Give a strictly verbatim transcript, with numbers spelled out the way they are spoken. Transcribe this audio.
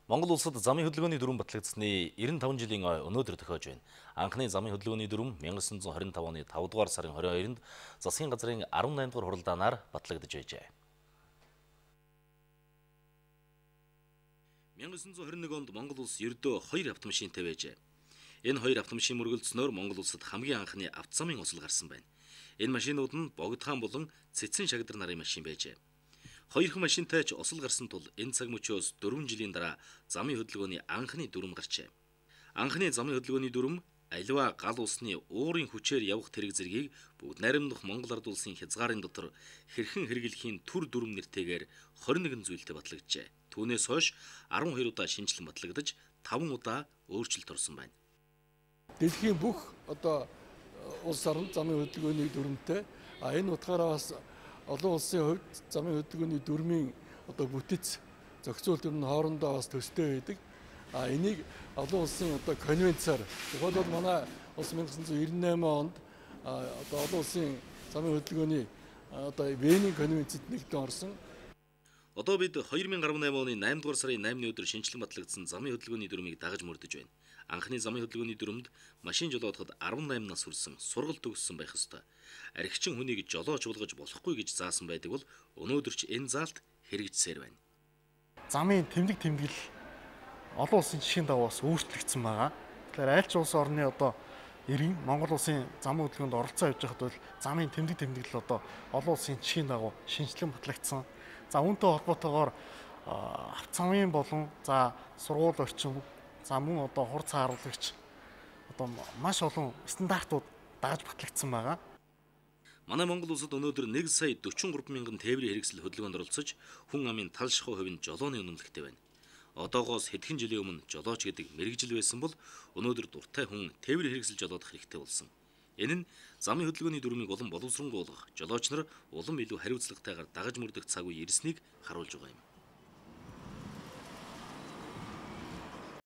Монгол улсад замын хөдөлгөөний дүрм батлагдсны эрдэнэ таван жилийн ой өнөөдөр тохиож байна. Анхны замын хөдөлгөөний дүрм мянга девятьсот двадцать пять оны тавд дугаар сарын двадцать хоёрнд засгийн газрын дөрөвдүгээр дугаар хуралдаанаар батлагдж байжээ. мянга девятьсот двадцать один онд Монгол улс ердөө хоёр автомашинтай байжээ. Энэ хоёр автомашин мөргөлдснөөр Монгол улсад хамгийн анхны автозамын осол гарсан байна. Энэ машинууд нь богдхан болон цэцэн шагдар нарын машин байжээ. Хоёрхан машинтай ч осол гарсан тул энэ цаг мөчөөс дөрвөн жилийн дараа замын хөдөлгөөний анхны дүрм гарчээ. Анхны замын хөдөлгөөний дүрм аливаа гал усны уурын хүчээр явах тэрэг зэргийг бүгд найрамдах Монгол ард улсын хязгаарын дотор хэрхэн хэрэглэхийн түр дүрм нэртэйгээр двадцать один зүйлтэй батлагджээ. Түүнээс хойш дөрвөн хоёр удаа шинжилэн батлагдаж таван удаа өөрчлөлт орсон байна. Дэлхийн бүх одоо улс орнд замын хөдөлгөөний дүрмтэй а энэ утгаараа бас олон улсын хувьд замын хөдөлгөөний дүрмийн одоо бүтэц зохицуулт нь хоорондоо бас төстэй байдаг. А энийг олон улсын одоо конвенцаар тухайлбал манай улс мянга девятьсот девяносто восемь онд одоо олон улсын замын хөдөлгөөний одоо Венийн конвенцэд нэгдэн орсон. Одоо бид две тысячи десять оны наймдугаар сарын наймны өдөр шинжилэн батлагдсан замын хөдөлгөөний дүрмийг дагаж мөрдөж байна. Анхны замын хөдөлгөөний дүрмд машин жолоодоход десвtám нас хүрсэн сургалт төгссөн байх ёстой. Архичин хүнийг жолооч болгож болохгүй гэж заасан байдаг бол өнөөдөр ч энэ заалт хэрэгжсээр байна. Замын тэмдэг тэмдэглэл олон улсын жишгийн дагуу бас өөрчлөгдсөн байгаа. Тэгэхээр аль ч улс орны одоо иргэн Монгол улсын замын хөдөлгөөнд оролцоо явж байхад бол замын тэмдэг тэмдэглэл одоо олон улсын жишгийн дагуу шинжилэн батлагдсан. За үүнтэй холбоотойгоор автозамын болон за сургууль орчин за мөн одоо хур цаа харуулагч одоо маш олон стандартууд дааж батлагдсан байгаа. Манай Монгол улсад өнөөдөр нэг сая дөрвөн гурван мянган тээврийн хэрэгсэл хөдөлгөөнд оролцож хүн амын тал шахуу хувийн жолооны үнэмлэхтэй байна. Одоогоос хэдхэн жилийн өмнө жолооч гэдэг мэрэгжил байсан бол өнөөдөр дуртай хүн тээврийн хэрэгсэл жолоодох хэрэгтэй болсон. Энэ нь замын хөдөлгөөний дүрмийг улам боловсронгуй болгох, жолооч нар улам илүү хариуцлагатайгаар дагаж мөрдөх цаг үе ирснийг харуулж байгаа юм.